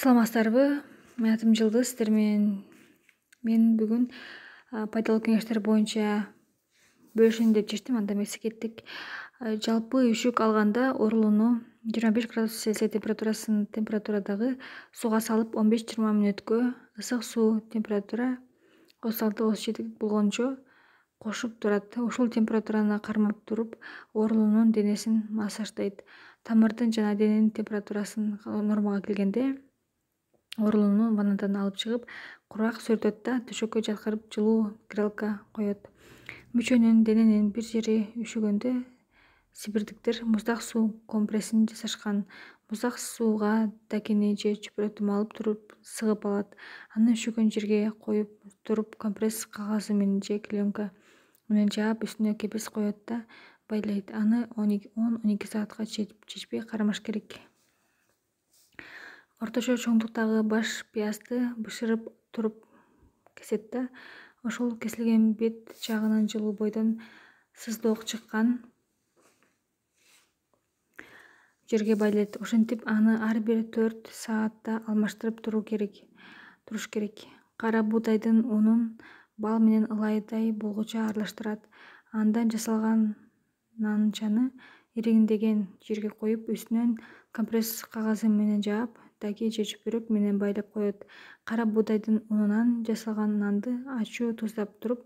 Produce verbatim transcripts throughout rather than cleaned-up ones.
Саламатсыздарбы? Менин атым Жылдыз. Сиздер менен мен бүгүн пайдалуу кеңештер боюнча бөлүшөйүн деп чечтим. Анда эмесе кеттик. Жалпы үшүк алганда оорулууну жыйырма беш градус Цельсий температурасын температурадагы сууга салып он беш жыйырма мүнөткө ысык суу температура отуз алты отуз жети болгончо кошуп турат. Ушул температураны кармап туруп оорулуунун денесин массаждайт. Тамырдын жана дененин температурасын нормага келгенде оорулууну ваннадан алып чыгып, кургак сүртөт да төшөккө жаткырып жылуу грелка коет. Мүчөнүн, дененин бир жери үшүгөндө сибирдиктер муздак суу компрессин жасашкан. Муздак сууга дакини же чөпүрөтү малып туруп сыгып алат. Аны үшүгөн жерге коюп туруп компресс кагазы менен же клеенка менен жаап, үстүнө кепес коет да байлайт. Аны он он эки саатка чечпей кармаш керек. Орточо чоңдуктагы баш пыязды бышырып туруп кесет да, ошол кесилген бет жагынан жылуу бойдон сыздоок чыккан жерге байлайт. Ошентип аны ар бир төрт саатта алмаштырып туруу керек туруш керек. Кара буудайдын унун бал менен ылайдай болгучу аралаштырат. Андан жасалган нанчаны ириңдеген жерге коюп, үстүнөн компресс кагазы менен жаап, даки же чөпүрөк менен байлап коет. Кара буудайдын унунан жасалган нанды ачуу туздап туруп,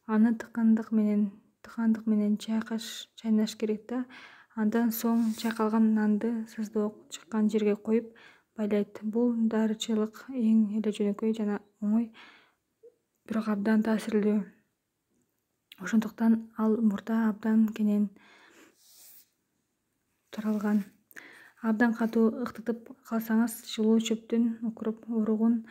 аны тыкандык менен тыкандык менен чайкаш чайнаш керек да, андан соң чайкалган нанды сыздоок чыккан жерге коюп байлайт. Бул дарычылык эң эле жөнөкөй жана оңой, бирок абдан таасирлүү. Ошондуктан ал мурда абдан кенен таралган. Абдан катуу ыктытып калсаңыз, жылуу чөптүн укуруп уругун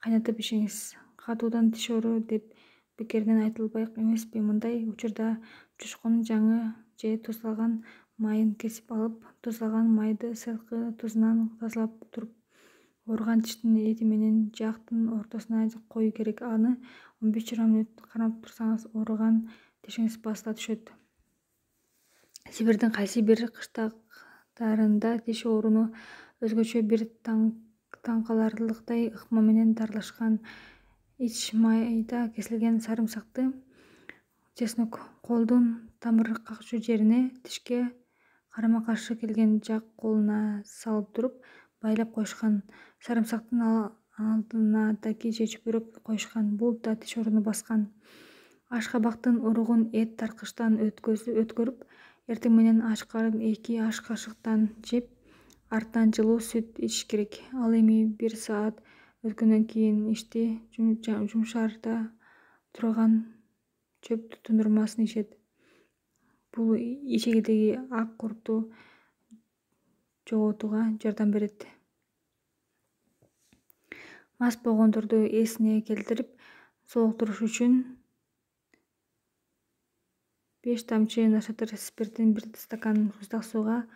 кайнатып ичиңиз. Катуудан тиш оору деп бекеринен айтылбайт эмеспи? Мындай учурда чучкунун жаңы же туздалган майын кесип алып, туздалган майды сырткы тузунан тазалап туруп, ооруган тиштин эти менен жаактын ортосуна коюу керек. Аны он беш жыйырма мүнөт кармап турсаңыз, ооруган тишиңиз басыла түшөт. Сибирдин кайсы бир кыштактарында тиш ооруну өзгөчө бир таңкаларлыктай ыкма менен дарылашкан. Ич майда кесилген сарымсакты чеснок колдун тамыр какчу жерине, тишке карама каршы келген жак колуна салып туруп байлап коюшкан. Сарымсактын алдына даки же чөпүрөк коюшкан. Бул да тиш ооруну баскан. Ашкабактын уругун эт тарткычтан өткөрүп, эртең менен ач карын эки аш кашыктан жеп, артынан жылуу сүт ичиш керек. Ал эми бир саат өткөндөн кийин ичти жумшарда турган чөп тундурмасын ичет. Бул ичегидеги ак куртту жоготууга жардам берет. Мас болгондорду эсине келтирип сооктуруш үчүн беш тамчы нашатыр спиртин бир стакан муздак сууга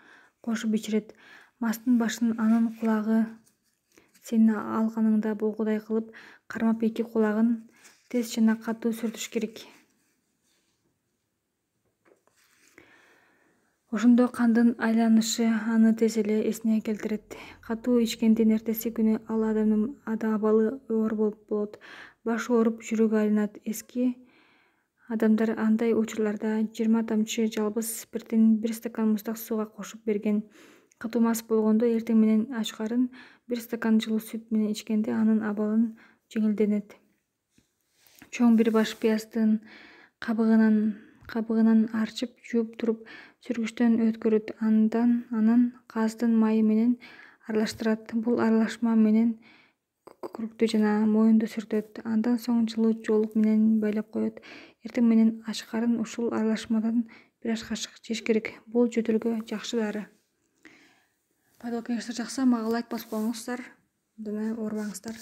кошуп ичирет. Мастын башын, анын кулагы сенин алганыңда болгудай кылып кармап, эки кулагын тез жана катуу сүртүш керек. Ошондо кандын айланышы аны тез эле эсине келтирет. Катуу ичкендин эртеси күнү ал адамдын абалы оор болот. Башы ооруп, жүрөгү айланат. Эски адамдар андай учурларда жыйырма тамчы жалбыз спиртин бир стакан муздак сууга кошуп берген. Катуу мас болгондо эртең менен ач карын бир стакан жылуу сүт менен ичкенде анын абалы жеңилденет. Чоң бир баш пыяздын кабыгынан кабыгынан арчып, жууп туруп сүргүчтөн өткөрөт. Андан анан кааздын майы менен аралаштырат. Бул аралашма менен күрөктү жана моюнду сүртөт. Андан соң жылуу жоолук менен байлап коет. Эртең менен ач карын ушул аралашмадан бир аш кашык жеш керек. Бул жөтөлгө жакшы дары. Пайдалуу кеңештер жакса, мага лайк басып коюңуздар. Абдан оорубаңыздар.